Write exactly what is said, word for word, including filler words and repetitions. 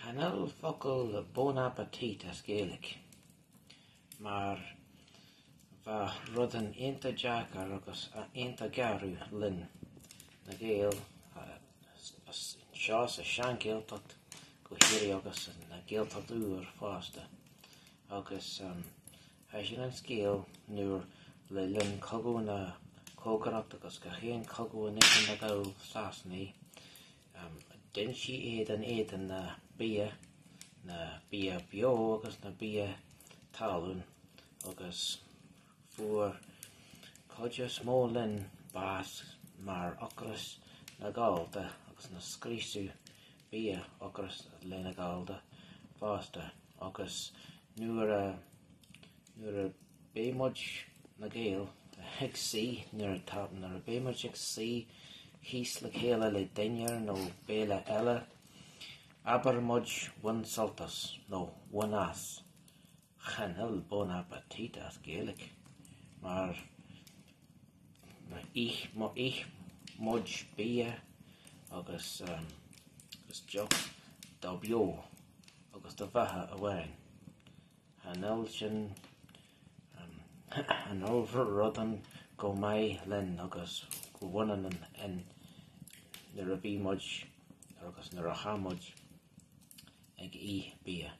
Chan fhuil focal bon appetit as Gaeilge, mar bheadh rudan iontach deacair agus iontach garbh linn, na Gaeil, anseo sa sean-Ghaeltacht go háirithe agus na Gaeltacht úr fosta. Agus tá sin an scéal nuair le linn cogadh na cógaireacht agus gach aon cogadh anois ina gabh Sasanaigh, d'ionsaigh iad in éadan na bia, na bia beo agus na bia talún agus fuair cuid is mó linn bás mar ocras na Gallda agus na scriosadh bia ocras le na Gallda fosta agus nuair a nuair a bheidh muid na Gaeil ag suí nuair atá nuair a bheidh muid ag suí thíos le chéile le dinnéar nó béile eile, abair muid bhain sult as nó bhain as. Chan fhuil bon appetit as Gaeilge mar ith ith muid bia agus um, agus deoch do beo agus do bheatha amháin. Chan fhuil sin um, chan fhuil rudan go maith linn agus go bhaineann an in nuair a bhí muid agus nuair a tha muid ag ithe bia.